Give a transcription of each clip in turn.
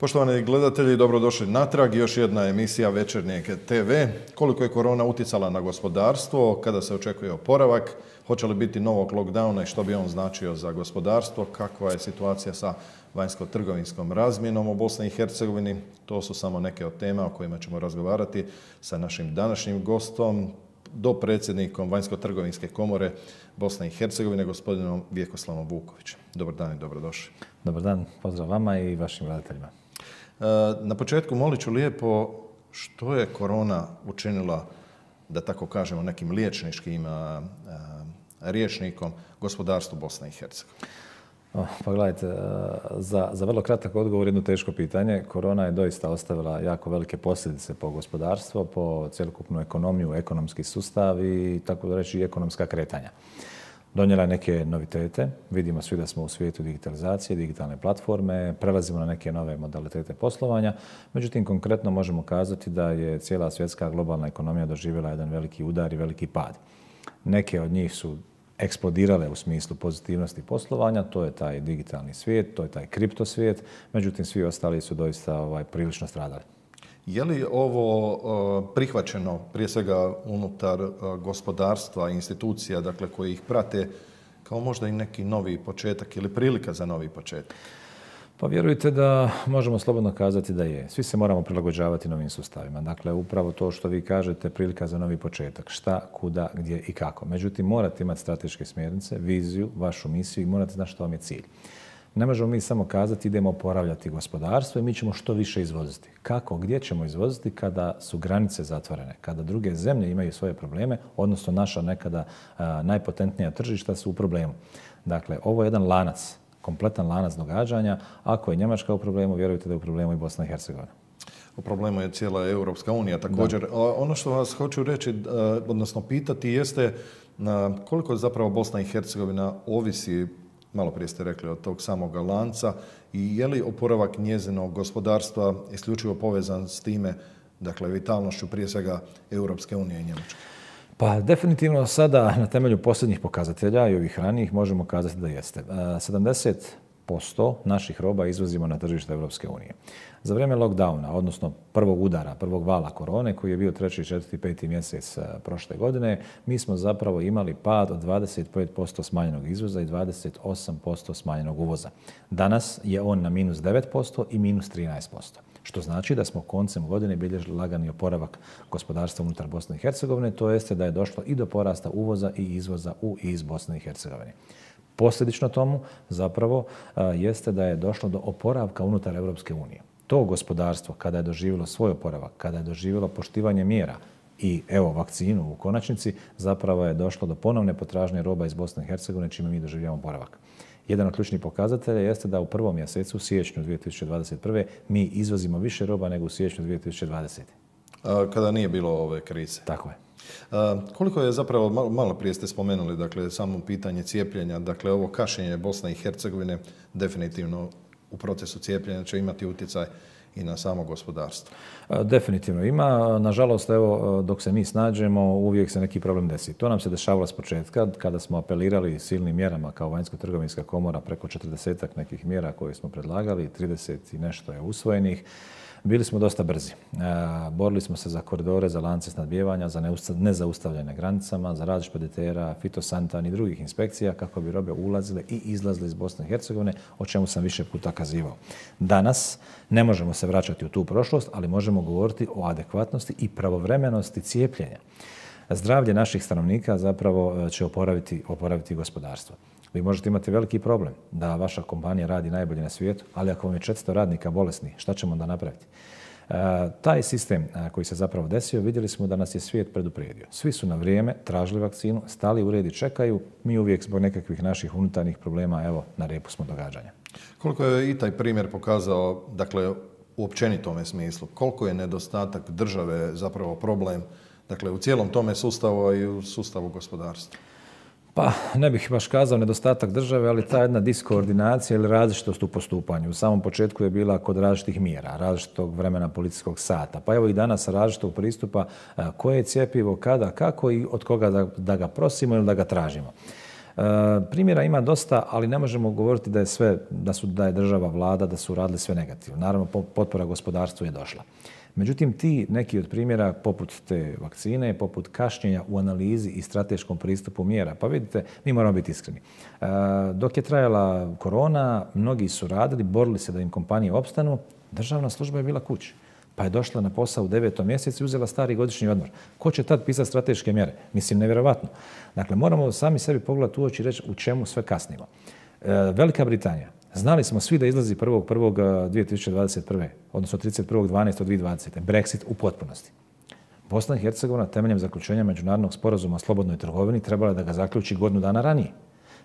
Poštovani gledatelji, dobrodošli natrag. Još jedna emisija Večernjeg TV. Koliko je korona utjecala na gospodarstvo, kada se očekuje oporavak, hoće li biti novog lockdowna i što bi on značio za gospodarstvo, kakva je situacija sa vanjsko-trgovinskom razmjenom u Bosni i Hercegovini. To su samo neke od tema o kojima ćemo razgovarati sa našim današnjim gostom, dopredsjednikom Vanjsko-trgovinske komore Bosne i Hercegovine, gospodinom Vjekoslavom Vukovićem. Dobar dan i dobrodošli. Dobar dan, pozdrav vama i vašim gledateljima. Na početku molit ću lijepo što je korona učinila, da tako kažemo, nekim liječničkim rječnikom gospodarstvu Bosne i Hercegovine. Pa gledajte, za vrlo kratak odgovor jedno teško pitanje. Korona je doista ostavila jako velike posljedice po gospodarstvo, po cjelokupnu ekonomiju, ekonomski sustav i tako da reći ekonomska kretanja. Donijela je neke novitete. Vidimo svi da smo u svijetu digitalizacije, digitalne platforme, prelazimo na neke nove modalitete poslovanja. Međutim, konkretno možemo kazati da je cijela svjetska globalna ekonomija doživjela jedan veliki udar i veliki pad. Neke od njih su eksplodirale u smislu pozitivnosti poslovanja, to je taj digitalni svijet, to je taj kripto svijet, međutim svi ostali su doista prilično stradali. Je li ovo prihvaćeno prije svega unutar gospodarstva, institucija, dakle koji ih prate, kao možda i neki novi početak ili prilika za novi početak? Pa vjerujte da možemo slobodno kazati da je. Svi se moramo prilagođavati novim sustavima. Dakle, upravo to što vi kažete, prilika za novi početak. Šta, kuda, gdje i kako. Međutim, morate imati strateške smjernice, viziju, vašu misiju i morate znati što vam je cilj. Ne možemo mi samo kazati idemo oporavljati gospodarstvo i mi ćemo što više izvoziti. Kako, gdje ćemo izvoziti kada su granice zatvorene, kada druge zemlje imaju svoje probleme, odnosno naša nekada najpotentnija tržišta su u problemu. Dakle, ovo je jedan lanac, kompletan lanac događanja. Ako je Njemačka u problemu, vjerujte da je u problemu i Bosna i Hercegovina. U problemu je cijela Europska unija također. Da. Ono što vas hoću reći, odnosno pitati, jeste koliko zapravo Bosna i Hercegovina ovisi, malo prije ste rekli, od tog samog lanca, i je li oporavak njezinog gospodarstva isključivo povezan s time, dakle vitalnošću prije svega Europske unije i Njemačke? Pa definitivno sada na temelju posljednjih pokazatelja i ovih ranijih možemo kazati da jeste. 70% naših roba izvozimo na tržište Europske unije. Za vrijeme lockdowna, odnosno prvog udara, prvog vala korone koji je bio 3., 4., 5. mjesec prošle godine, mi smo zapravo imali pad od 25% smanjenog izvoza i 28% smanjenog uvoza. Danas je on na minus 9% i minus 13%. Što znači da smo koncem godine bilježili lagani oporavak gospodarstva unutar Bosne i Hercegovine, to jeste da je došlo i do porasta uvoza i izvoza iz Bosne i Hercegovine. Posljedično tomu zapravo jeste da je došlo do oporavka unutar Europske unije. To gospodarstvo, kada je doživjelo svoj oporavak, kada je doživjelo poštivanje mjera i evo vakcinu u konačnici, zapravo je došlo do ponovne potražnje roba iz Bosne i Hercegovine, čime mi doživljavamo oporavak. Jedan od ključnih pokazatelja jeste da u prvom mjesecu, siječnju 2021. mi izvozimo više roba nego u siječnju 2020. Kada nije bilo ove krize. Tako je. Koliko je zapravo, malo prije ste spomenuli, dakle, samo pitanje cijepljenja, dakle, ovo kašnjenje Bosne i Hercegovine definitivno u procesu cijepljenja će imati utjecaj i na samo gospodarstvo? Definitivno ima. Nažalost, evo, dok se mi snađemo, uvijek se neki problem desi. To nam se dešavalo s početka, kada smo apelirali silnim mjerama kao Vanjsko-trgovinska komora, preko 40-ak nekih mjera koje smo predlagali, 30 i nešto je usvojenih. Bili smo dosta brzi. Borili smo se za koridore, za lance snabdijevanja, za nezaustavljene granicama, za rad špeditera, fitosanitarnih i drugih inspekcija kako bi robe ulazile i izlazile iz Bosne i Hercegovine, o čemu sam više puta kazivao. Danas ne možemo se vraćati u tu prošlost, ali možemo govoriti o adekvatnosti i pravovremenosti cijepljenja. Zdravlje naših stanovnika zapravo će oporaviti gospodarstvo. Vi možete imati veliki problem da vaša kompanija radi najbolje na svijetu, ali ako vam je 400 radnika bolesni, šta ćemo onda napraviti? Taj sistem koji se zapravo desio, vidjeli smo da nas je svijet predupredio. Svi su na vrijeme tražili vakcinu, stali u red i čekaju. Mi uvijek zbog nekakvih naših unutarnjih problema, evo, na repu smo događanja. Koliko je i taj primjer pokazao, dakle, u općenitome smislu, koliko je nedostatak države zapravo problem, dakle, u cijelom tome sustavu i u sustavu gospodarstva? Pa ne bih baš kazao nedostatak države, ali ta jedna diskoordinacija ili različitost u postupanju. U samom početku je bila kod različitih mjera, različitog vremena policijskog sata. Pa evo i danas različitog pristupa koje je cjepivo, kada, kako i od koga da ga prosimo ili da ga tražimo. Primjera ima dosta, ali ne možemo govoriti da je sve, da je država, vlada, da su radili sve negativno. Naravno, potpora gospodarstvu je došla. Međutim, ti neki od primjera, poput te vakcine, poput kašnjenja u analizi i strateškom pristupu mjera, pa vidite, mi moramo biti iskreni. Dok je trajala korona, mnogi su radili, borili se da im kompanije opstanu, državna služba je bila kući. Pa je došla na posao u 9. mjesecu i uzela stari godišnji odmor. Ko će tad pisati strateške mjere? Mislim, nevjerovatno. Dakle, moramo sami sebi pogledati u oči i reći u čemu sve kasnimo. Velika Britanija. Znali smo svi da izlazi 1.1.2021. odnosno 31.12.2020. Brexit u potpunosti. Bosna i Hercegovina temeljem zaključenja međunarodnog sporazuma o slobodnoj trgovini trebala je da ga zaključi godinu dana ranije.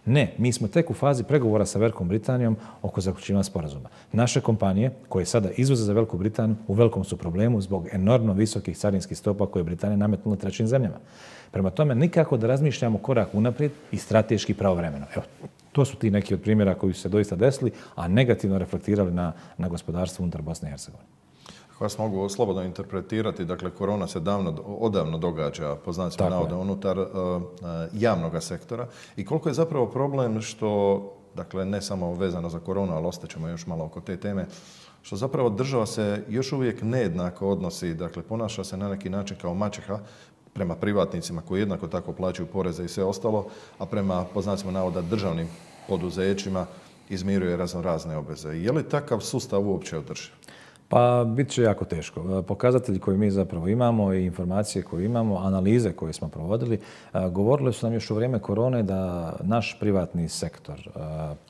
Ne, mi smo tek u fazi pregovora sa Velikom Britanijom oko zaključivanja sporazuma. Naše kompanije, koje sada izvoze za Veliku Britaniju, u velikom su problemu zbog enormno visokih carinskih stopa koje je Britanija nametnula trećim zemljama. Prema tome, nikako da razmišljamo korak unaprijed i strateški pravovremeno. Evo, to su ti neki od primjera koji su se doista desili, a negativno reflektirali na gospodarstvo unutar Bosne i Hercegovine. Ako vas mogu slobodno interpretirati, dakle, korona se odavno događa, po znacima navoda, unutar javnog sektora. I koliko je zapravo problem što, dakle, ne samo vezano za koronu, ali ostaćemo još malo oko te teme, što zapravo država se još uvijek nejednako odnosi, dakle, ponaša se na neki način kao maćeha prema privatnicima koji jednako tako plaćaju poreze i sve ostalo, a prema, po znacima navoda, državnim poduzećima izmiruje razne obveze. Je li takav sustav uopće održiv? Pa bit će jako teško. Pokazatelji koje mi zapravo imamo i informacije koje imamo, analize koje smo provodili, govorili su nam još u vrijeme korone da naš privatni sektor,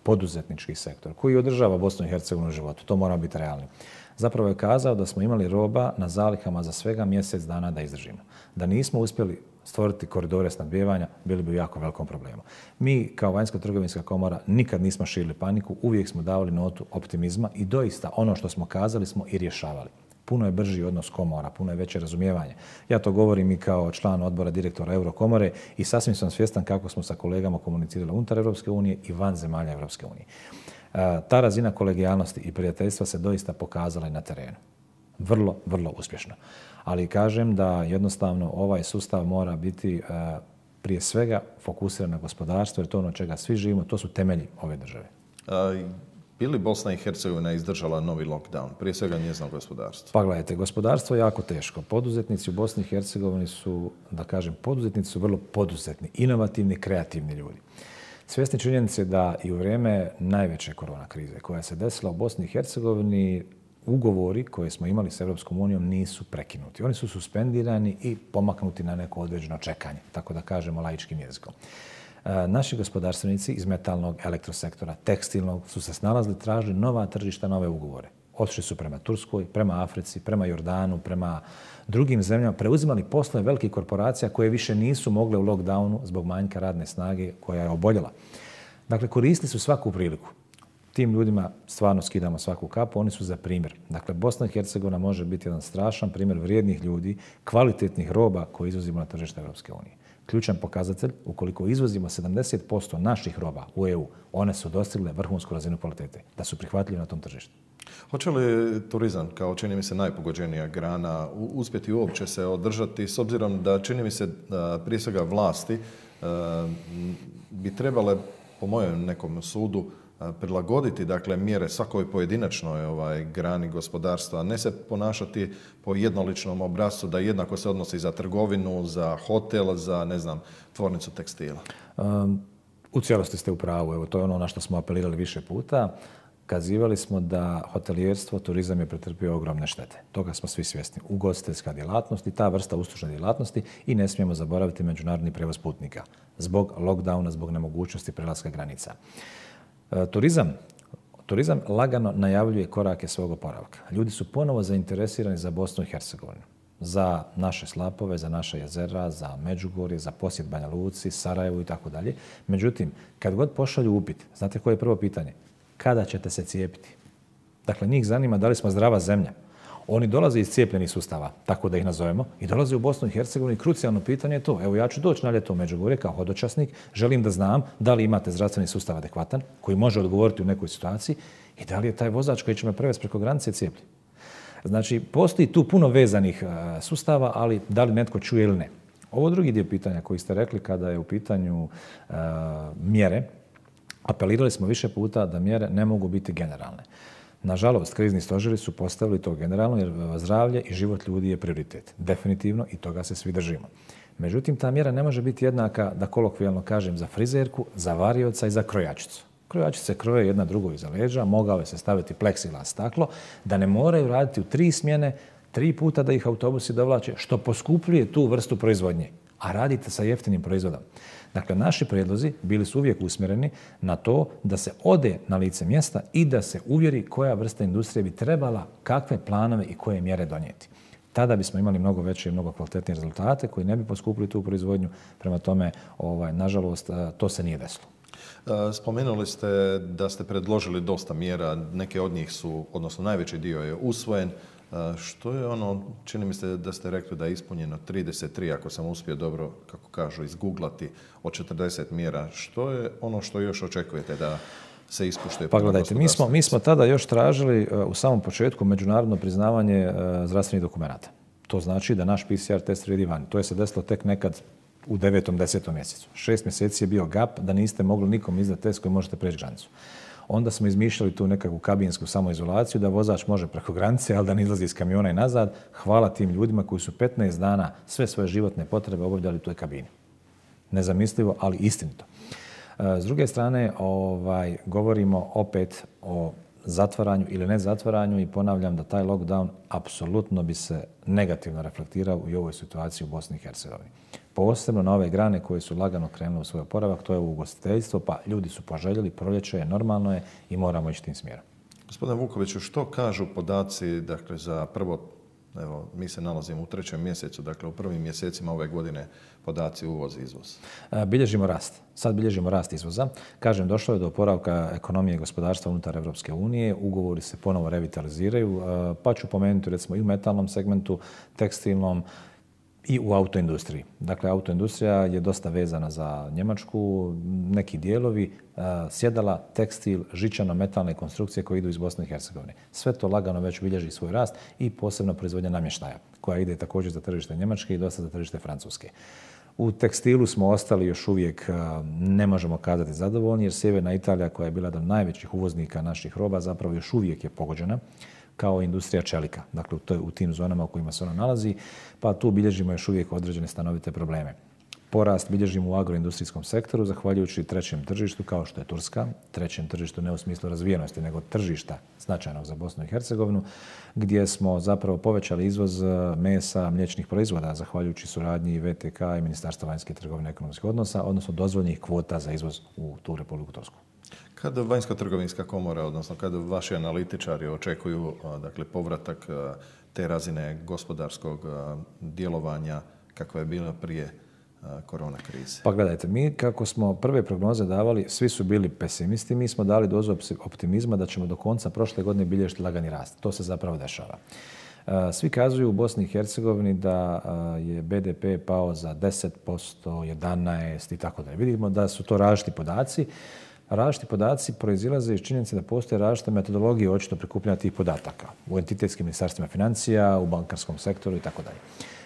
poduzetnički sektor, koji održava Bosnu i Hercegovinu u životu, to moramo biti realni, zapravo je kazao da smo imali roba na zalihama za svega mjesec dana da izdržimo. Da nismo uspjeli stvoriti koridore snabdijevanja, bili bi u jako velikom problemu. Mi, kao Vanjsko-trgovinska komora, nikad nismo širili paniku, uvijek smo davali notu optimizma i doista ono što smo kazali smo i rješavali. Puno je brži odnos komora, puno je veće razumijevanje. Ja to govorim i kao član odbora direktora Eurokomore i sasvim sam svjestan kako smo sa kolegama komunicirali unutar Europske unije i van zemalja Europske unije. Ta razina kolegijalnosti i prijateljstva se doista pokazala i na terenu. Vrlo, vrlo uspješno. Ali kažem da jednostavno ovaj sustav mora biti prije svega fokusiran na gospodarstvo, jer to je ono čega svi živimo, to su temelji ove države. Bi li Bosna i Hercegovina izdržala novi lockdown, prije svega njezino gospodarstvo? Pa gledajte, gospodarstvo je jako teško. Poduzetnici u Bosni i Hercegovini su, da kažem, poduzetnici su vrlo poduzetni, inovativni, kreativni ljudi. Svjesni činjenice da i u vrijeme najveće korona krize koja se desila u Bosni i Hercegovini, ugovori koje smo imali s Europskom unijom nisu prekinuti. Oni su suspendirani i pomaknuti na neko određeno čekanje, tako da kažemo laičkim jezikom. Naši gospodarstvenici iz metalnog, elektrosektora, tekstilnog su se snalazili, tražili nova tržišta, nove ugovore. Otišli su prema Turskoj, prema Africi, prema Jordanu, prema drugim zemljama, preuzimali poslove velikih korporacija koje više nisu mogle u lockdownu zbog manjka radne snage koja je oboljela. Dakle, koristili su svaku priliku. Tim ljudima stvarno skidamo svaku kapu, oni su za primjer. Dakle, Bosna i Hercegovina može biti jedan strašan primjer vrijednih ljudi, kvalitetnih roba koje izvozimo na tržište Europske unije. Ključan pokazatelj, ukoliko izvozimo 70% naših roba u EU, one su dostigle vrhunsku razinu kvalitete, da su prihvatljive na tom tržištu. Hoće li turizam, kao čini mi se najpogođenija grana, uspjeti uopće se održati, s obzirom da čini mi se prije svega vlasti bi trebale, po mojem nekom sudu, prilagoditi, dakle, mjere svakoj pojedinačnoj grani gospodarstva, a ne se ponašati po jednoličnom obrascu da jednako se odnosi za trgovinu, za hotel, za, ne znam, tvornicu tekstila. U cijelosti ste u pravu. Evo, to je ono na što smo apelirali više puta. Kazivali smo da hotelijerstvo, turizam je pretrpio ogromne štete. Toga smo svi svjesni. Ugostiteljska djelatnost i ta vrsta uslužne djelatnosti i ne smijemo zaboraviti međunarodni prevoz putnika zbog lockdowna, zbog nemogućnosti prelaska granica. Turizam lagano najavljuje korake svog oporavka. Ljudi su ponovo zainteresirani za Bosnu i Hercegovinu, za naše slapove, za naše jezera, za Međugorje, za posjet Banja Luci, Sarajevu i tako dalje. Međutim, kad god pošalju upit, znate koje je prvo pitanje? Kada ćete se cijepiti? Dakle, njih zanima da li smo zdrava zemlja. Oni dolaze iz cijepljenih sustava, tako da ih nazovemo, i dolaze u Bosnu i Hercegovinu i krucijalno pitanje je to. Evo, ja ću doći na ljeto u Međugorje kao hodočasnik, želim da znam da li imate zdravstveni sustav adekvatan, koji može odgovoriti u nekoj situaciji i da li je taj vozač koji će me prevesti preko granice cijepljen. Znači, postoji tu puno vezanih sustava, ali da li netko čuje ili ne. Ovo drugi dio pitanja koji ste rekli kada je u pitanju mjere, apelirali smo više puta da mjere ne mogu biti generalne. Nažalost, krizni stožeri su postavili to generalno jer zdravlje i život ljudi je prioritet. Definitivno i toga se svi držimo. Međutim, ta mjera ne može biti jednaka, da kolokvijalno kažem, za frizerku, za varioca i za krojačicu. Krojačice kroje jedna drugoj iza leđa, mogao je se staviti pleksiglas staklo, da ne moraju raditi u 3 smjene, 3 puta da ih autobusi dovlače, što poskupljuje tu vrstu proizvodnje. A radite sa jeftinim proizvodom. Dakle, naši prijedlozi bili su uvijek usmjereni na to da se ode na lice mjesta i da se uvjeri koja vrsta industrije bi trebala, kakve planove i koje mjere donijeti. Tada bismo imali mnogo veće i mnogo kvalitetnije rezultate koji ne bi poskupili tu proizvodnju. Prema tome, nažalost, to se nije desilo. Spomenuli ste da ste predložili dosta mjera, neke od njih su, odnosno najveći dio je usvojen. Što je ono, čini mi se da ste rekli da je ispunjeno 33, ako sam uspio dobro, kako kažu, izguglati od 40 mjera. Što je ono što još očekujete da se ispuštuje? Pa gledajte, mi smo tada još tražili u samom početku međunarodno priznavanje zdravstvenih dokumenata. To znači da naš PCR test vrijedi vani. To je se desilo tek nekad u 9. 10. mjesecu. 6 mjeseci je bio gap da niste mogli nikom izdati test koji možete preći granicu. Onda smo izmišljali tu nekakvu kabinsku samoizolaciju da vozač može preko granice, ali da ne izlazi iz kamiona i nazad. Hvala tim ljudima koji su 15 dana sve svoje životne potrebe obavljali u toj kabini. Nezamislivo, ali istinito. S druge strane, govorimo opet o zatvaranju ili ne zatvaranju i ponavljam da taj lockdown apsolutno bi se negativno reflektirao i ovoj situaciji u Bosni i Hercegovini. Posebno na ove grane koje su lagano krenule u svoj oporavak, to je ugostiteljstvo, pa ljudi su poželjeli, proljeće je, normalno je i moramo ići tim smjerom. Gospodine Vukoviću, što kažu podaci, dakle, za prvo, evo, mi se nalazimo u 3. mjesecu, dakle, u prvim mjesecima ove godine podaci uvoz i izvoz? Bilježimo rast. Sad bilježimo rast izvoza. Kažem, došlo je do oporavka ekonomije i gospodarstva unutar Evropske unije. Ugovori se ponovo revitaliziraju, pa ću pomenuti recimo i u metalnom segmentu, tekstilnom, i u autoindustriji. Dakle, autoindustrija je dosta vezana za Njemačku, neki dijelovi, sjedala, tekstil, žičano-metalne konstrukcije koje idu iz Bosne i Hercegovine. Sve to lagano već bilježi svoj rast i posebno proizvodnja namještaja, koja ide također za tržište Njemačke i dosta za tržište Francuske. U tekstilu smo ostali još uvijek, ne možemo kazati zadovoljni, jer sjeverna Italija, koja je bila jedan od najvećih uvoznika naših roba, zapravo još uvijek je pogođena kao industrija čelika, dakle u tim zonama u kojima se ona nalazi, pa tu bilježimo još uvijek određene stanovite probleme. Porast bilježimo u agroindustrijskom sektoru, zahvaljujući trećem tržištu, kao što je Turska, trećem tržištu ne u smislu razvijenosti, nego tržišta značajnog za Bosnu i Hercegovinu, gdje smo zapravo povećali izvoz mesa, mliječnih proizvoda, zahvaljujući suradnji VTK i Ministarstva vanjske trgovine i ekonomskih odnosa, odnosno dozvoljenih kvota za izvoz u tu Republiku Tursku. Kad Vanjsko-trgovinska komora, odnosno kad vaši analitičari očekuju dakle, povratak te razine gospodarskog djelovanja kakva je bila prije korona krize? Pa gledajte, mi kako smo prve prognoze davali, svi su bili pesimisti, mi smo dali dozu optimizma da ćemo do konca prošle godine bilježiti lagani rast. To se zapravo dešava. Svi kazuju u Bosni i Hercegovini da je BDP pao za 10%, 11% i tako dalje. Vidimo da su to različiti podaci. Različiti podaci proizilaze iz činjenice da postoje različite metodologije očito prikupljanja tih podataka u entitetskim ministarstvima financija, u bankarskom sektoru i tako dalje.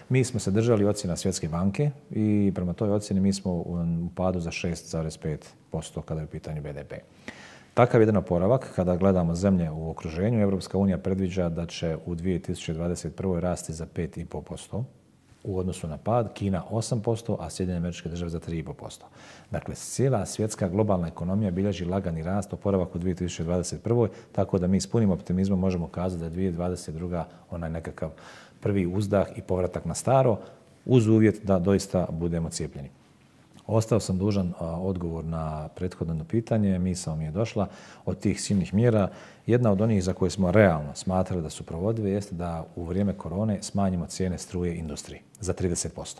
Mi smo se držali ocjena Svjetske banke i prema toj ocjeni mi smo u padu za 6,5% kada je u pitanju BDP. Takav jedan oporavak, kada gledamo zemlje u okruženju, Evropska unija predviđa da će u 2021. rasti za 5,5%. U odnosu na pad, Kina 8%, a Sjedinjene Američke Države za 3,5%. Dakle, cijela svjetska globalna ekonomija bilježi lagani rast, oporavak u 2021. Tako da mi s punim optimizmom možemo kazati da je 2022. onaj nekakav prvi uzdah i povratak na staro, uz uvjet da doista budemo cijepljeni. Ostao sam dužan odgovor na prethodno pitanje, misao mi je došla od tih silnih mjera. Jedna od onih za koje smo realno smatrali da su provodive jeste da u vrijeme korone smanjimo cijene struje industriji za 30%.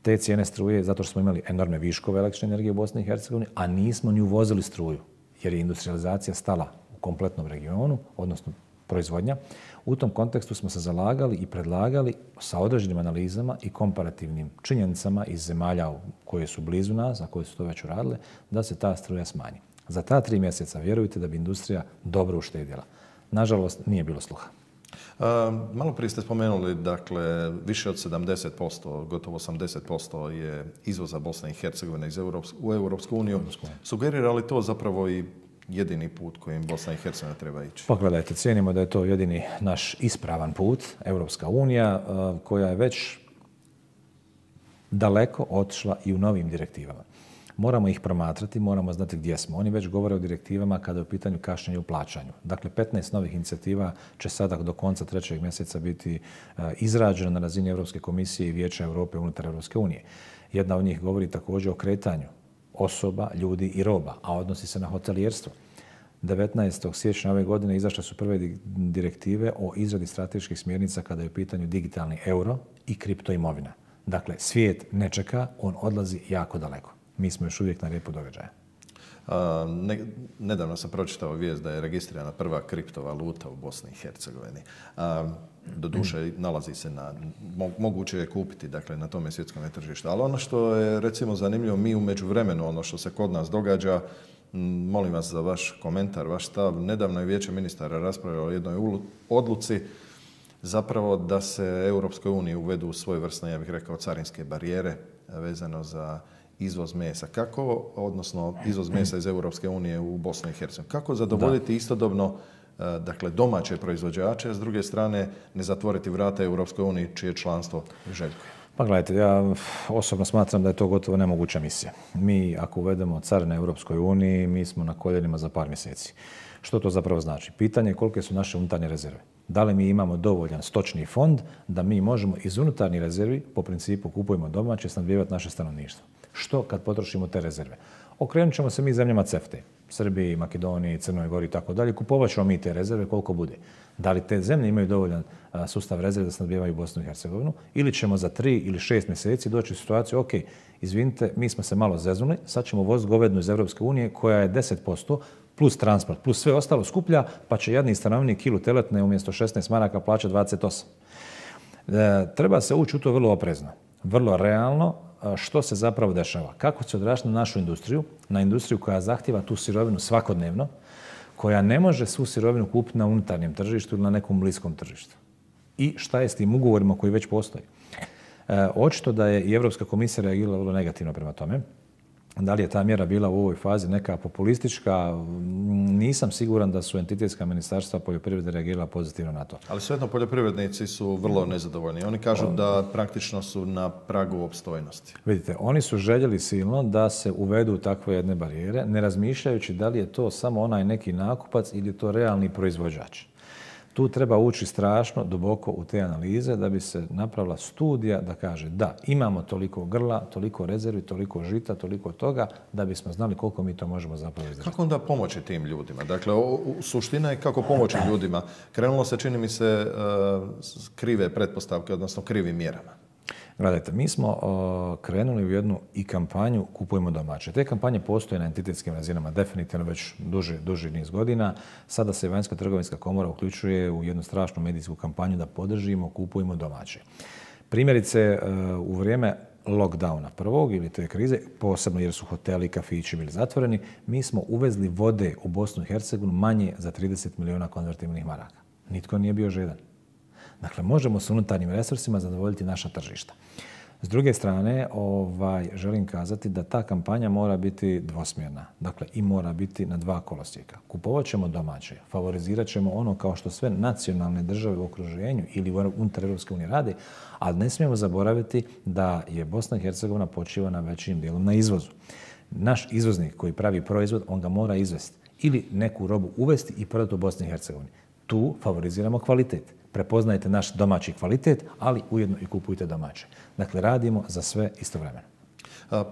Te cijene struje zato što smo imali enormne viškove električne energije u Bosni i Hercegovini, a nismo ni uvozili struju jer je industrializacija stala u kompletnom regionu, odnosno proizvodnja. U tom kontekstu smo se zalagali i predlagali sa određenim analizama i komparativnim činjenicama iz zemalja koje su blizu nas, a koje su to već uradile, da se ta struja smanji. Za ta 3 mjeseca vjerujte da bi industrija dobro uštedjela. Nažalost, nije bilo sluha. Malo prije ste spomenuli, dakle, više od 70%, gotovo 80% je izvoza Bosne i Hercegovine u Europsku uniju. Sugerira li to zapravo i jedini put kojim Bosna i Hercegovina treba ići? Pogledajte, cijenimo da je to jedini naš ispravan put, Europska unija, koja je već daleko otišla i u novim direktivama. Moramo ih promatrati, moramo znati gdje smo. Oni već govore o direktivama kada je u pitanju kašnjenja u plaćanju. Dakle, 15 novih inicijativa će sada do konca 3. mjeseca biti izrađena na razini Europske komisije i Vijeća Europe unutar Europske unije. Jedna od njih govori također o kretanju osoba, ljudi i roba, a odnosi se na hotelijerstvo. 19. siječnja ove godine izašle su prve direktive o izradi strateških smjernica kada je u pitanju digitalni euro i kriptoimovina. Dakle, svijet ne čeka, on odlazi jako daleko. Mi smo još uvijek na repu događaja. Nedavno sam pročitao vijest da je registrirana prva kriptovaluta u Bosni i Hercegovini. Doduše, nalazi se moguće je kupiti, dakle, na tome svjetskom tržištu. Ali ono što je, recimo, zanimljivo, mi u međuvremenu, ono što se kod nas događa, molim vas za vaš komentar, vaš stav. Nedavno je Vijeće ministara raspravljalo o jednoj odluci zapravo da se Europskoj uniji uvedu svojevrsne, ja bih rekao, carinske barijere vezano za izvoz mesa. Kako, odnosno izvoz mesa iz Europske unije u Bosnu i Hercegovinu? Kako zadovoljiti istodobno, dakle, domaće proizvođače, a s druge strane ne zatvoriti vrata Europskoj uniji čije članstvo željkuje? Pa gledajte, ja osobno smatram da je to gotovo nemoguća misija. Mi, ako uvedemo carine Europskoj uniji, mi smo na koljenima za par mjeseci. Što to zapravo znači? Pitanje je kolike su naše unutarnje rezerve. Da li mi imamo dovoljan stočni fond da mi možemo iz unutarnjih rezervi, po principu kupujemo domaće, snabdijevati naše stanovništvo. Što kad potrošimo te rezerve? Okrenut ćemo se mi zemljama CEFTA-e, Srbiji, Makedoniji, Crnoj Gori i tako dalje. Kupovat ćemo mi te rezerve koliko bude. Da li te zemlje imaju dovoljan sustav rezerve da snabdijevaju Bosnu i Hercegovinu ili ćemo za 3 ili 6 mjeseci doći u situaciju, ok, izvinite, mi smo se malo zeznuli, sad ćemo voziti govednu iz Europske unije koja je 10% plus transport, plus sve ostalo skuplja, pa će jadni stanovnik kilu teletne umjesto 16 maraka plaćati 28. Treba se ući u to vrlo oprezno, vrlo realno, što se zapravo dešava. Kako će odraziti na našu industriju, na industriju koja zahtjeva tu sirovinu svakodnevno, koja ne može svu sirovinu kupiti na unutarnjem tržištu ili na nekom bliskom tržištu. I šta je s tim ugovorima koji već postoji? Očito da je i Europska komisija reagirala vrlo negativno prema tome. Da li je ta mjera bila u ovoj fazi neka populistička, nisam siguran da su entitetska ministarstva poljoprivrede reagirala pozitivno na to. Ali svejedno poljoprivrednici su vrlo nezadovoljni. Oni kažu da praktično su na pragu opstojnosti. Vidite, oni su željeli silno da se uvedu takve jedne barijere, ne razmišljajući da li je to samo onaj neki nakupac ili je to realni proizvođač. Tu treba ući strašno duboko u te analize da bi se napravila studija da kaže da, imamo toliko grla, toliko rezervi, toliko žita, toliko toga, da bismo znali koliko mi to možemo zapravo izdržati. Kako onda pomoći tim ljudima? Dakle, suština je kako pomoći ljudima. Krenulo se, čini mi se, krive pretpostavke, odnosno krivim mjerama. Gledajte, mi smo krenuli u jednu i kampanju Kupujmo domaće. Te kampanje postoje na entitetskim razinama definitivno već duži niz godina. Sada se Vanjska trgovinska komora uključuje u jednu strašnu medijsku kampanju da podržimo Kupujmo domaće. Primjerice, u vrijeme lockdowna prvog ili te krize, posebno jer su hoteli i kafići bili zatvoreni, mi smo uvezli vode u Bosnu i Hercegovinu manje za 30 milijuna konvertibilnih maraka. Nitko nije bio žedan. Dakle, možemo s unutarnjim resursima zadovoljiti naša tržišta. S druge strane, želim kazati da ta kampanja mora biti dvosmjerna. Dakle, i mora biti na 2 kolosijeka. Kupovat ćemo domaće, favorizirat ćemo ono kao što sve nacionalne države u okruženju ili unutar Europske unije rade, ali ne smijemo zaboraviti da je Bosna i Hercegovina počiva na većim dijelom na izvozu. Naš izvoznik koji pravi proizvod, on ga mora izvesti ili neku robu uvesti i prodati u Bosni i Hercegovini. Tu favoriziramo kvalitet. Prepoznajte naš domaći kvalitet, ali ujedno i kupujte domaće. Dakle, radimo za sve istovremeno.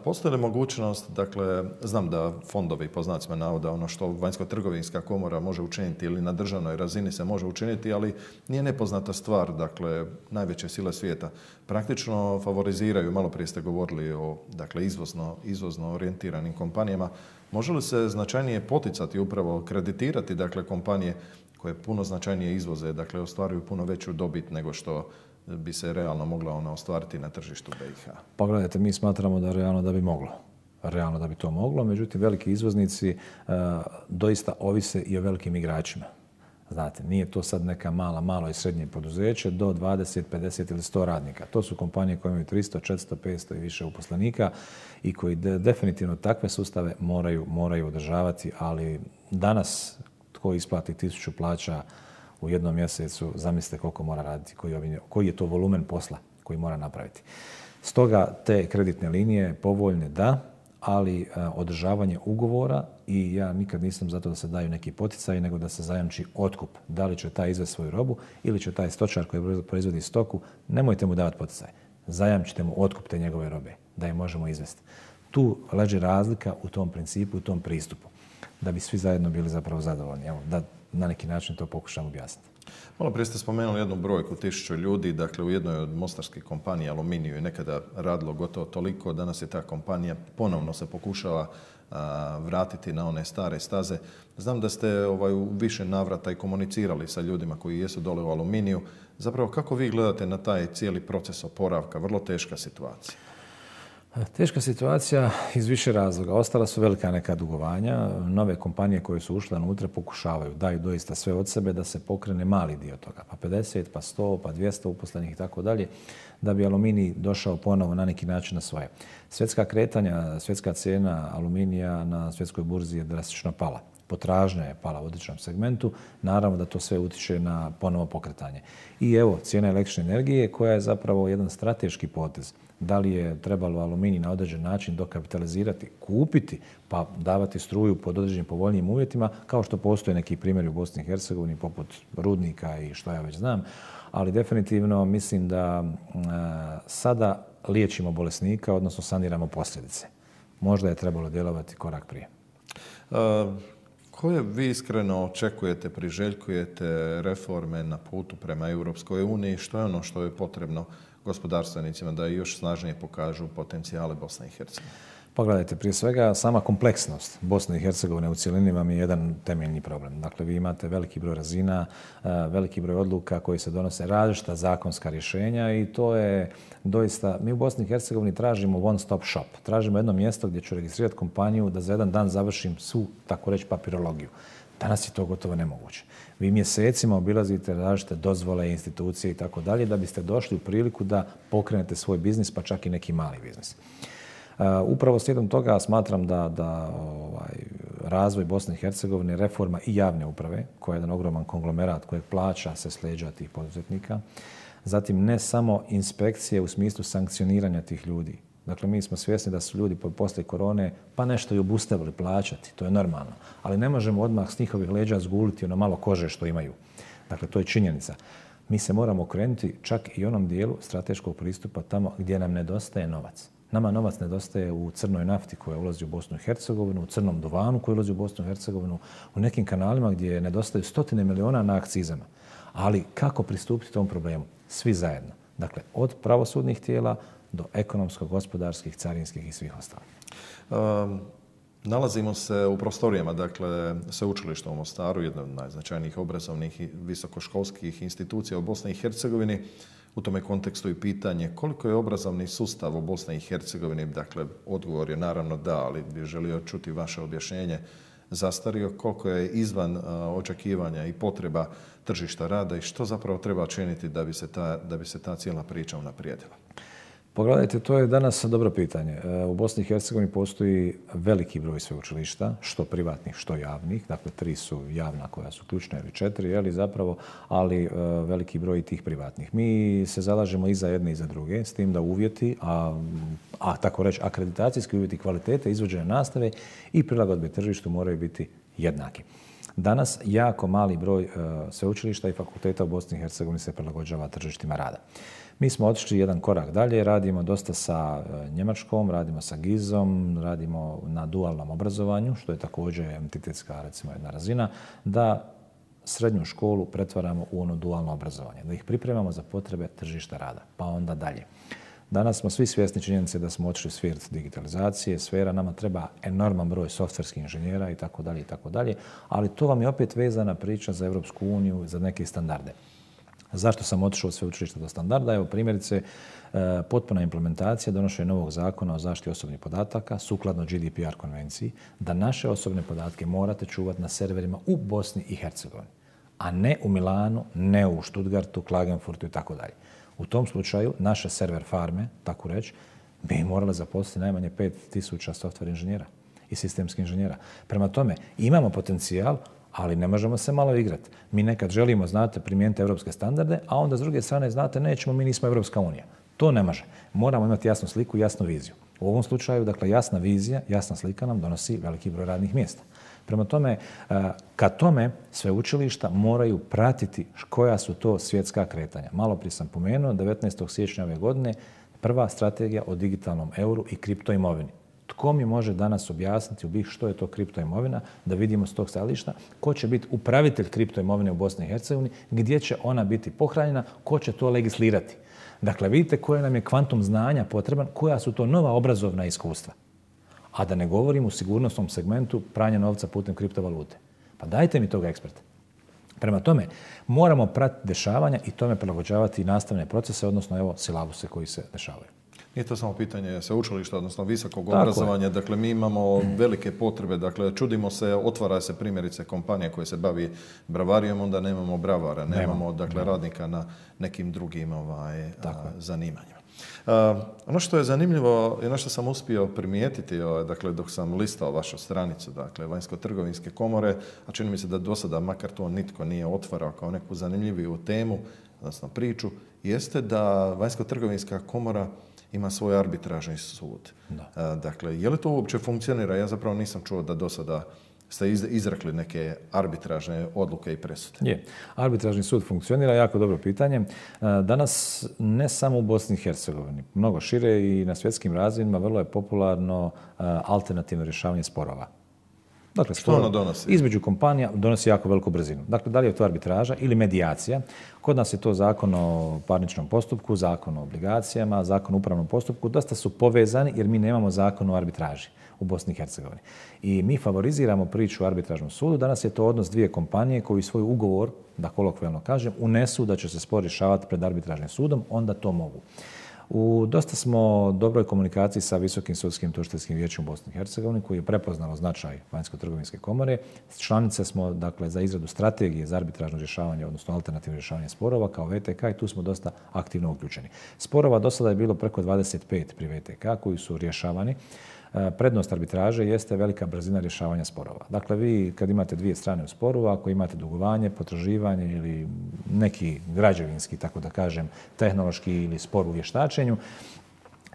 Postoji li mogućnost, dakle, znam da fondovi, po znacima navoda, ono što Vanjska trgovinska komora može učiniti ili na državnoj razini se može učiniti, ali nije nepoznata stvar, dakle, najveće sile svijeta praktično favoriziraju, malo prije ste govorili o, dakle, izvozno orijentiranim kompanijama. Može li se značajnije poticati, upravo kreditirati, dakle, kompanije koje puno značajnije izvoze, dakle, ostvaruju puno veću dobit nego što bi se realno mogla ona ostvariti na tržištu BiH? Pa gledajte, mi smatramo da realno da bi moglo. Realno da bi to moglo, međutim veliki izvoznici doista ovise i o velikim igračima. Znate, nije to sad neka malo i srednje poduzeće do 20, 50 ili 100 radnika. To su kompanije koje imaju 300, 400, 500 i više uposlenika i koji definitivno takve sustave moraju održavati, ali danas tko isplati 1000 plaća u jednom mjesecu, zamislite koliko mora raditi, koji je to volumen posla koji mora napraviti. Stoga te kreditne linije povoljne da, ali održavanje ugovora i ja nikad nisam zato da se daju neki poticaji, nego da se zajamči otkup. Da li će taj izvesti svoju robu ili će taj stočar koji proizvodi stoku, nemojte mu davati poticaj. Zajamčite mu otkup te njegove robe, da je možemo izvesti. Tu leži razlika u tom principu, u tom pristupu, da bi svi zajedno bili zapravo zadovoljni. Evo, da na neki način to pokušam objasniti. Malo prije ste spomenuli jednu brojku, 1000 ljudi, dakle u jednoj od mostarskih kompanija Aluminiju je nekada radilo gotovo toliko, danas je ta kompanija ponovno se pokušava vratiti na one stare staze. Znam da ste u više navrata i komunicirali sa ljudima koji jesu dole u Aluminiju. Zapravo kako vi gledate na taj cijeli proces oporavka, vrlo teška situacija? Teška situacija iz više razloga. Ostala su velika neka dugovanja. Nove kompanije koje su ušle unutra pokušavaju, daju doista sve od sebe da se pokrene mali dio toga. Pa 50, pa 100, pa 200 uposlenih i tako dalje, da bi Aluminij došao ponovo na neki način na svoje. Svjetska kretanja, svjetska cijena aluminija na svjetskoj burzi je drastično pala. Potražnja je pala u određenom segmentu, naravno da to sve utiče na ponovo pokretanje. I evo, cijena električne energije koja je zapravo jedan strateški potez. Da li je trebalo Aluminij na određen način dokapitalizirati, kupiti, pa davati struju pod određenim povoljnijim uvjetima, kao što postoje neki primjeri u Bosni i Hercegovini, poput rudnika i što ja već znam. Ali definitivno mislim da sada liječimo bolesnika, odnosno saniramo posljedice. Možda je trebalo djelovati korak prije. Koje vi iskreno očekujete, priželjkujete reforme na putu prema Europskoj uniji? Što je ono što je potrebno gospodarstvenicima da još snažnije pokažu potencijale Bosne i Hercegovine? Pogledajte, prije svega sama kompleksnost Bosne i Hercegovine u cjelini vam je jedan temeljni problem. Dakle, vi imate veliki broj razina, veliki broj odluka koji se donose, različita zakonska rješenja i to je doista... Mi u Bosni i Hercegovini tražimo one stop shop. Tražimo jedno mjesto gdje ću registrirati kompaniju da za jedan dan završim svu, tako reći, papirologiju. Danas je to gotovo nemoguće. Vi mjesecima obilazite različite dozvole, institucije i tako dalje da biste došli u priliku da pokrenete svoj biznis, pa čak i neki mali biznis. Upravo slijedom toga smatram da razvoj Bosne i Hercegovine, reforma i javne uprave, koja je jedan ogroman konglomerat kojeg plaća se s leđa tih poduzetnika, zatim ne samo inspekcije u smislu sankcioniranja tih ljudi. Dakle, mi smo svjesni da su ljudi poslije korone pa nešto i obustavili plaćati, to je normalno. Ali ne možemo odmah s njihovih leđa zguliti ono malo kože što imaju. Dakle, to je činjenica. Mi se moramo okrenuti čak i onom dijelu strateškog pristupa tamo gdje nam nedostaje novac. Nama novac nedostaje u crnoj nafti koja ulazi u Bosnu i Hercegovinu, u crnom duvanu koji ulazi u Bosnu i Hercegovinu, u nekim kanalima gdje nedostaju stotine miliona na akcizama. Ali kako pristupiti tom problemu? Svi zajedno. Dakle, od pravosudnih tijela do ekonomsko-gospodarskih, carinskih i svih ostalih. Nalazimo se u prostorijama, dakle, sveučilišta u Mostaru, jedna od najznačajnijih obrazovnih i visokoškolskih institucija u Bosni i Hercegovini. U tome kontekstu i pitanje koliko je obrazovni sustav u Bosni i Hercegovini, dakle, odgovor je naravno da, ali bih želio čuti vaše objašnjenje, zastario, koliko je izvan očekivanja i potreba tržišta rada i što zapravo treba činiti da bi se ta cijela priča unaprijedila. Pogledajte, to je danas dobro pitanje. U Bosni i Hercegovini postoji veliki broj sveučilišta, što privatnih, što javnih. Dakle, 3 su javna koja su ključna ili 4, zapravo, ali veliki broj tih privatnih. Mi se zalažemo i za jedne i za druge, s tim da uvjeti, a tako reći akreditacijski uvjeti kvalitete izvođenja nastave i prilagodbe tržištu moraju biti jednaki. Danas jako mali broj sveučilišta i fakulteta u Bosni i Hercegovini se prilagođava tržištima rada. Mi smo otišli jedan korak dalje, radimo dosta sa Njemačkom, radimo sa GIZ-om, radimo na dualnom obrazovanju, što je također entitetska, recimo, jedna razina, da srednju školu pretvaramo u ono dualno obrazovanje, da ih pripremamo za potrebe tržišta rada, pa onda dalje. Danas smo svi svjesni činjenice da smo otišli u svijet digitalizacije, sfera, nama treba enorman broj softverskih inženjera i tako dalje, ali to vam je opet vezana priča za Europsku uniju, za neke standarde. Zašto sam otišao od sveučilišta do standarda? Evo, primjerice, potpuna implementacija donošenja novog zakona o zaštiti osobnih podataka sukladno GDPR konvenciji, da naše osobne podatke morate čuvati na serverima u Bosni i Hercegovini. a ne u Milanu, ne u Stuttgartu, Klagenfurtu i tako dalje. U tom slučaju naše server farme, tako reći, bi morale zaposliti najmanje 5000 software inženjera i sistemskih inženjera. Prema tome, imamo potencijal, ali ne možemo se malo igrati. Mi nekad želimo, znate, primijeniti evropske standarde, a onda s druge strane, znate, nećemo, mi nismo Evropska unija. To ne može. Moramo imati jasnu sliku i jasnu viziju. U ovom slučaju, dakle, jasna vizija, jasna slika nam donosi veliki broj radnih mjesta. Prema tome, ka tome sveučilišta moraju pratiti koja su to svjetska kretanja. Malo prije sam pomenuo, 19. siječnja ove godine, prva strategija o digitalnom euru i kriptoimovini. Tko mi može danas objasniti u BiH što je to kriptoimovina, da vidimo s tog stajališta, ko će biti upravitelj kriptoimovine u Bosni i Hercegovini, gdje će ona biti pohranjena, ko će to legislirati. Dakle, vidite koje nam je kvantum znanja potreban, koja su to nova obrazovna iskustva. A da ne govorim u sigurnosnom segmentu pranja novca putem kriptovalute. Pa dajte mi toga eksperta. Prema tome, moramo pratiti dešavanja i tome prilagođavati i nastavne procese, odnosno evo silabuse koji se dešavaju. Nije to samo pitanje sveučilišta, odnosno visokog obrazovanja. Dakle, mi imamo velike potrebe. Dakle, čudimo se, otvara se primjerice kompanija koja se bavi bravarijom, onda nemamo bravara, nemamo dakle, radnika na nekim drugim zanimanjima. Ono što je zanimljivo i ono što sam uspio primijetiti, dakle, dok sam listao vašu stranicu, dakle, Vanjsko-trgovinske komore, a čini mi se da do sada, makar to nitko nije otvarao kao neku zanimljiviju temu, odnosno priču, jeste da Vanjsko-trgovinska komora ima svoj arbitražni sud. Dakle, je li to uopće funkcionira? Ja zapravo nisam čuo da do sada ste izrekli neke arbitražne odluke i presude. Je. Arbitražni sud funkcionira, jako dobro pitanje. Danas ne samo u Bosni i Hercegovini, mnogo šire i na svjetskim razmjerima vrlo je popularno alternativno rješavanje sporova. Dakle, što ono donosi? Između kompanija donosi jako veliku brzinu. Dakle, da li je to arbitraža ili medijacija? Kod nas je to zakon o parničnom postupku, zakon o obligacijama, zakon o upravnom postupku. Dosta su povezani jer mi nemamo zakon o arbitraži u Bosni i Hercegovini. I mi favoriziramo priču o arbitražnom sudu. Danas je to odnos dvije kompanije koji svoj ugovor, da kolokvijalno kažem, unesu da će se spor rješavati pred arbitražnim sudom, onda to mogu. U dosta smo dobroj komunikaciji sa Visokim sudskim tužiteljskim vijećem u Bosni i Hercegovini koji je prepoznalo značaj Vanjsko-trgovinske komore. Članice smo dakle, za izradu strategije za arbitražno rješavanje, odnosno alternativno rješavanje sporova kao VTK i tu smo dosta aktivno uključeni. Sporova do sada je bilo preko 25 pri VTK koji su rješavani. Prednost arbitraže jeste velika brzina rješavanja sporova. Dakle, vi kad imate dvije strane u sporu, ako imate dugovanje, potraživanje ili neki građevinski, tako da kažem, tehnološki ili spor u vještačenju,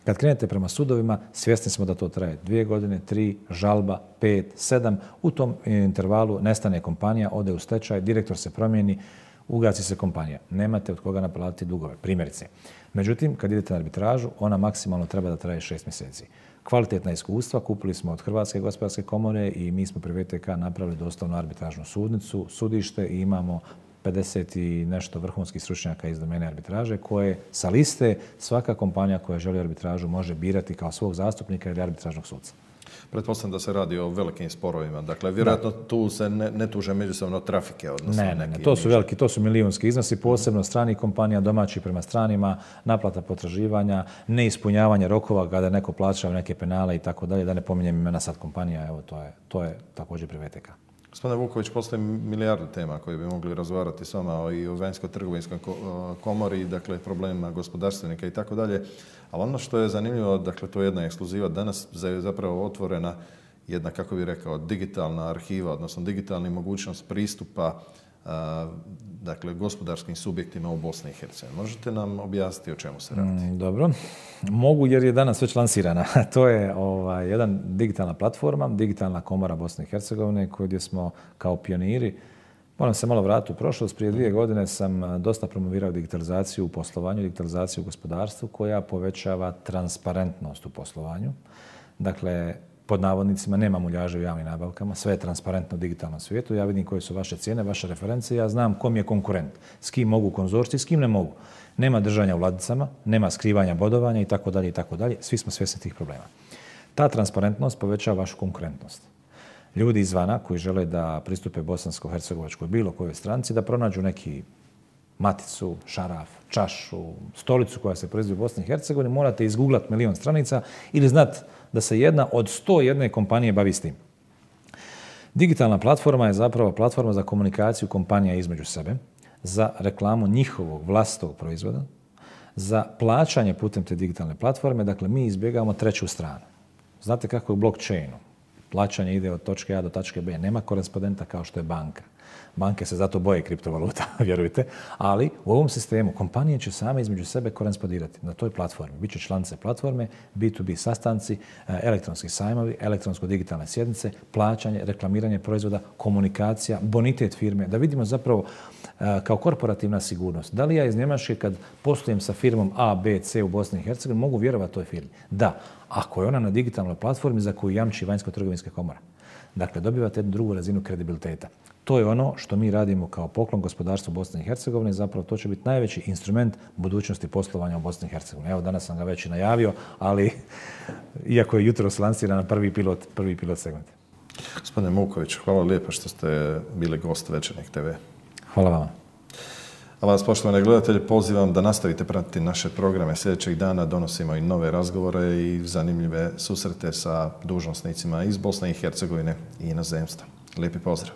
kad krenete prema sudovima, svjesni smo da to traje 2 godine, 3, žalba, 5, 7. U tom intervalu nestane kompanija, ode u stečaj, direktor se promijeni, ugasi se kompanija. Nemate od koga naplatiti dugove, primjerice. Međutim, kad idete na arbitražu, ona maksimalno treba da traje 6 mjeseci. Kvalitetna iskustva kupili smo od Hrvatske gospodarske komore i mi smo pri VTK napravili doslovno arbitražnu sudnicu, sudište i imamo 50 i nešto vrhunskih stručnjaka iz domene arbitraže koje sa liste svaka kompanija koja želi arbitražu može birati kao svog zastupnika ili arbitražnog sudca. Pretpostavljam da se radi o velikim sporovima. Dakle, vjerojatno tu se ne tuže međusobno trafike. Odnosno ne. To su veliki, to su milijunski iznosi, posebno stranih kompanija, domaći prema stranima, naplata potraživanja, neispunjavanje rokova kada neko plaća neke penale i tako dalje, da ne pominjem imena sad kompanija, evo to je također pri VTK. Gospodine Vuković, postoji milijardu tema koje bi mogli razgovarati s vama i o Vanjsko-trgovinskoj komori, dakle problemima gospodarstvenika i tako dalje. Ali ono što je zanimljivo, dakle to je jedna ekskluziva, danas je zapravo otvorena jedna, kako bih rekao, digitalna arhiva, odnosno digitalna mogućnost pristupa dakle, gospodarskim subjektima u Bosni i Hercegovini. Možete nam objasniti o čemu se radi? Dobro. Mogu jer je danas već lansirana. To je jedan digitalna platforma, digitalna komora Bosne i Hercegovine gdje smo kao pioniri. Moram se malo vratiti u prošlost. Prije 2 godine sam dosta promovirao digitalizaciju u poslovanju, digitalizaciju u gospodarstvu koja povećava transparentnost u poslovanju. Dakle, pod navodnicima nema muljaže u javnim nabavkama, sve je transparentno u digitalnom svijetu. Ja vidim koje su vaše cijene, vaše referencije, ja znam kom je konkurent, s kim mogu konzorciti, s kim ne mogu. Nema držanja u ladicama, nema skrivanja bodovanja i tako dalje i tako dalje. Svi smo svjesni tih problema. Ta transparentnost povećava vašu konkurentnost. Ljudi izvana koji žele da pristupe bosansko-hercegovačkoj bilo kojoj stranci, da pronađu neki maticu, šaraf, čašu, stolicu koja se proizvodi u Bosni i Hercegovini, morate izgooglati 1.000.000 stranica ili znati da se jedna od 101 kompanije bavi s tim. Digitalna platforma je zapravo platforma za komunikaciju kompanija između sebe, za reklamu njihovog vlastitog proizvoda, za plaćanje putem te digitalne platforme. Dakle, mi izbjegavamo treću stranu. Znate kako je u blockchainu? Plaćanje ide od točke A do točke B. Nema korespondenta kao što je banka. Banke se zato boje kriptovaluta, vjerujte, ali u ovom sistemu kompanije će same između sebe korespondirati na toj platformi. Biće članice platforme, B2B sastanci, elektronski sajmovi, elektronsko-digitalne sjednice, plaćanje, reklamiranje proizvoda, komunikacija, bonitet firme, da vidimo zapravo kao korporativna sigurnost. Da li ja iz Njemačke kad poslujem sa firmom A, B, C u Bosni i Hercegovini mogu vjerovati toj firmi? Da, ako je ona na digitalnoj platformi za koju jamči Vanjsko-trgovinska komora. Dakle, dobivate jednu drugu razinu kredibiliteta. To je ono što mi radimo kao poklon gospodarstvu Bosne i Hercegovine. Zapravo to će biti najveći instrument budućnosti poslovanja u Bosni i Hercegovini. Evo, danas sam ga već i najavio, ali iako je jutros lansiran prvi pilot segment. Gospodine Muković, hvala lijepo što ste bili gost Večernjeg TV. Hvala vama. A vas, poštovane gledatelji, pozivam da nastavite pratiti naše programe. Sljedećeg dana donosimo i nove razgovore i zanimljive susrete sa dužnosnicima iz Bosne i Hercegovine i inozemstva. Lijepi pozdrav!